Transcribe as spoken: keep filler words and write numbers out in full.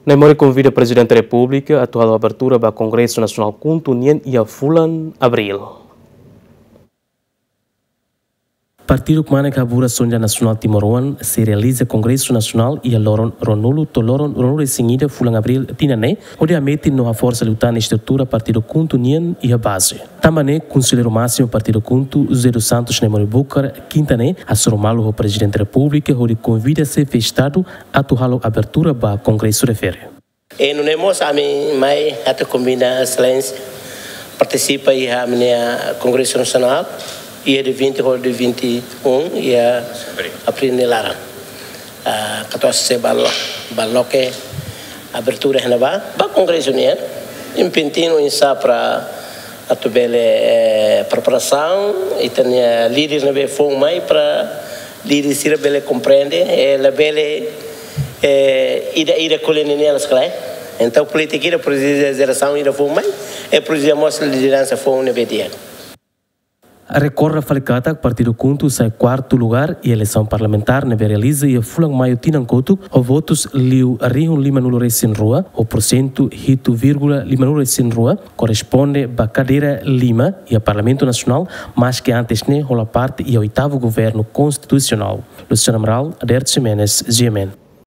Naimori konvida Prezidente Repúblika atu halo abertura ba Kongresu Nasionál KHUNTO nian iha fulan Abríl. Partidu kmanek haburas sonja nasionál timoroan sei realiza Kongresu Nasionál iha loron ruanulu to'o loron ruanulu-resin-ida fulan Abríl tinan ne'e, hodi hametin no haforsa liután estrutura partidu KHUNTO nian iha baze. Tanba ne'e, Konselleiru Másimu Partidu KHUNTO, José dos Santos Naimori Bucar, kinta ne'e, hasoru malu ho Prezidente Repúblika hodi konvida Xefe Estadu atu halo abertura ba Kongresu refere. E nune'e mós ami mai atu konvida Exelénsia partisipa iha ami-nia Kongresu Nasionál, iha dia vinte ho dia vinte e um, iha Abríl nia laran. Ah, katuas se bal-, baloke abertura iha ne'ebá, ba Kongresu nian, impentinu insa para atu bele, eh, preparasaun, ita-nia líder ne'ebé foun mai para líder sira bele komprende, eh, labele, eh, ida-ida ko'alia ninian la skalai. Entaun, polítika ida presiza jerasaun ida foun mai, e presiza mós lideransa foun ne'ebé di'ak. Rekorda fali katak Partidu KHUNTO sai kuartu lugár iha eleisaun parlamentár ne'ebé realiza iha fulan Maiu tinan kotuk, ho votus liu rihun limanulu-resin-rua, ho porsentu hitu vírgula limanulu-resin-rua, korresponde ba kadeira lima iha Parlamentu Nasionál, maske antes ne'e hola parte iha oitavu Governu Konstitusionál. Luciano Amaral, Aderto Ximenes, G M N.